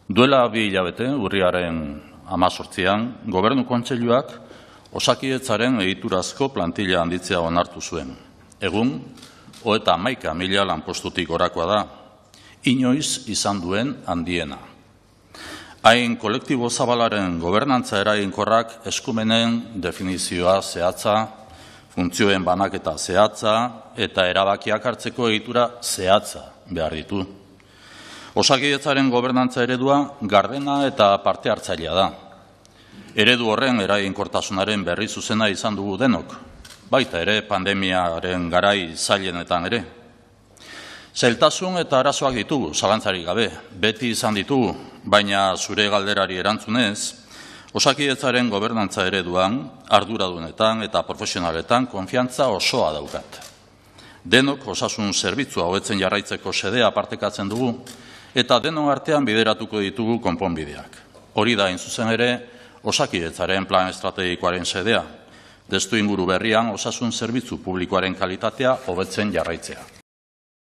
Duela 2 hilabete, urriaren 18an, Gobernu Kontseiluak Osakidetzaren egiturazko plantilla handitzea onartu zuen. Egun, 31.000 lanpostutik gorakoa da, inoiz izan duen handiena. Hain kolektibo zabalaren gobernantza eraginkorrak eskumenen definizioa zehatza, funtzioen banaketa zehatza eta erabakiak hartzeko egitura zehatza behar ditu. Osakidetzaren gobernantza eredua gardena eta parte hartzailea da. Eredu horren eraginkortasunaren berri zuzena izan dugu denok, baita ere pandemiaren garai zailenetan ere. Zailtasun eta arazoak ditugu, zalantzarik gabe, beti izan ditugu, baina zure galderari erantzunez, Osakidetzaren gobernantza ereduan, arduradunetan eta profesionaletan konfiantza osoa daukat. Denok osasun zerbitzua hobetzen jarraitzeko xedea partekatzen dugu, eta denon artean bideratuko ditugu konponbideak. Hori da, hain zuzen ere, Osakidetzaren plan estrategikoaren xedea, testuinguru berrian osasun zerbitzu publikoaren kalitatea hobetzen jarraitzea.